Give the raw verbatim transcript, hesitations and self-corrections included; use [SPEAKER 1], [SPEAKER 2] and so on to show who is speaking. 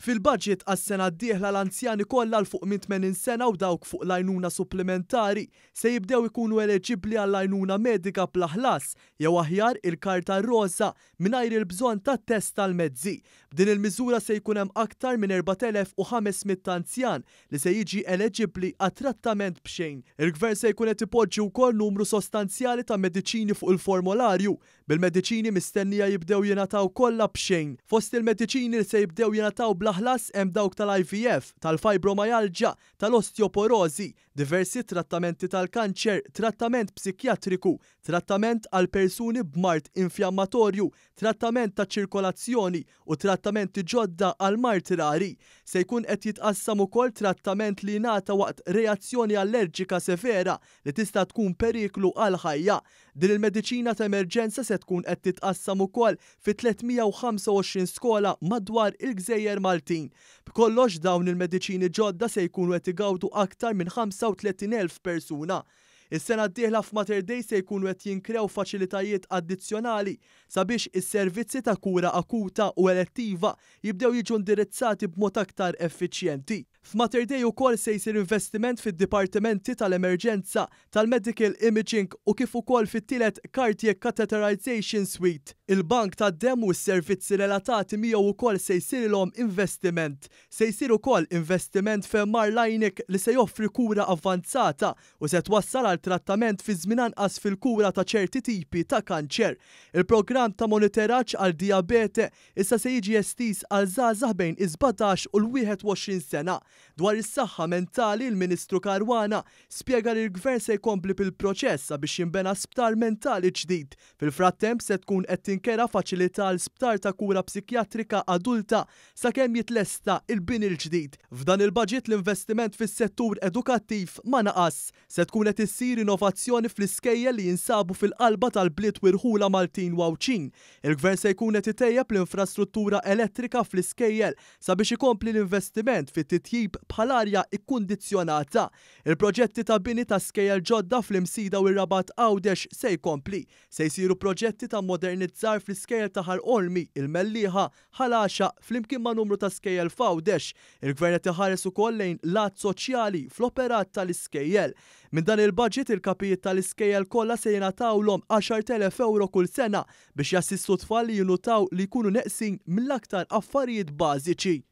[SPEAKER 1] Fil-budget għas-sena d-dieħla, l-anzjani kollha 'l fuq minn tmenin sena u dawk fuq l-għajnuna supplementari se jibdew ikunu eleġibbli għall-għajnuna medika bla ħlas, jew aħjar il-karta rosa, mingħajr il-bżonn ta' test tal-mezzi. B'din il-miżura se jkun hemm aktar minn erbat elef u ħames mitt anzjan li se jiġi eleġibbli għat trattament b'xejn. Il-gvern se jkun qed ipoġġi wkoll numru sostanzjali ta' mediċini fuq il-formolarju, bil-mediċini mistennija jibdew jingħataw kollha b'xejn. Fost il-mediċini li se jibdew jingħataw bla ħlas hemm dawk tal-I V F, tal-fibromyalgia, tal-osteoporosi, diversi trattamenti tal-kanċer, trattament psikjatriku, trattament għal persuni b'mard infjammatorju, trattament ta' ċirkolazzjoni u trattamenti ġodda għal mard rari. Se jkun qed jitqassam ukoll trattament li jingħata waqt reazzjoni allerġika severa li tista' tkun periklu għal ħajja. Din il-mediċina ta' emerġenza se tkun qed titqassam ukoll fi tliet mija u ħamsa u għoxrin skola madwar il-Gżejjer Maltin. B'kollox, dawn il-mediċini ġodda se jkunu qed igawdu aktar minn ħamsa u tletin elf persuna. Is-sena d-dieħla f'Mater Dei se jkunu qed jinkrew faċilitajiet addizzjonali sabiex is-servizzi ta' kura akuta u elettiva jibdew jiġu indirizzati b'mod aktar effiċjenti. F'Mater Dei ukoll se jsir investiment fid-dipartimenti tal-emerġenza, tal-medical imaging u kif ukoll fit-tielet cardiac catheterization suite. Il-bank tad-dem u s-servizzi relatati miegħu ukoll se jsirilhom investiment. Se jsir ukoll investiment f'M R Linac li se joffri kura avvanzata u se twassal għal trattament fi żmien anqas fil-kura ta' ċerti tipi ta' kanċer. Il-programm ta' monitoraġġ għal dijabete issa se jiġi estiż għal żgħażagħ bejn is-sbatax u l-wieħed u għoxrin sena. Dwar is-saħħa mentali, il-Ministru Caruana spjega li l-Gvern se jkompli bil-proċess biex jinbena sptar mentali ġdid. Fil-frattemp se tkun qed tinkera faċilità l sptar ta' kura psikjatrika adulta sakemm jitlesta il-bini l-ġdid. F'dan il-budget l-investiment fis-settur edukattiv ma naqas. Se tkun qed issir innovazzjoni fl-iskejjel li jinsabu fil-qalba tal-bliet u rħula Maltin u Għawdxin. Il-Gvern se jkun qed itejjeb l-infrastruttura elettrika fl-iskejjel sabiex ikompli l-investiment fit-titjib bħal arja ikkundizzjonata. Il-proġetti ta' bini ta' skejjel ġodda fl-Imsida u r-Rabat Għawdex se jkompli. Se jsiru proġetti ta' modernizzar fl-iskejjel ta' Ħal Qormi, il-Mellieħa, Ħal Għaxaq, flimkien ma' numru ta' skejjel f'Għawdex. Il-Gvern qed iħares ukoll lejn lat soċjali fl-operat tal-iskejjel. Minn dan il-budget, il-kapijiet tal-iskejjel kollha se jingħatawlhom għaxart elef euro kull sena biex jassistu tfal li jinutaw li jkunu neqsin mill-aktar affarijiet bażiċi.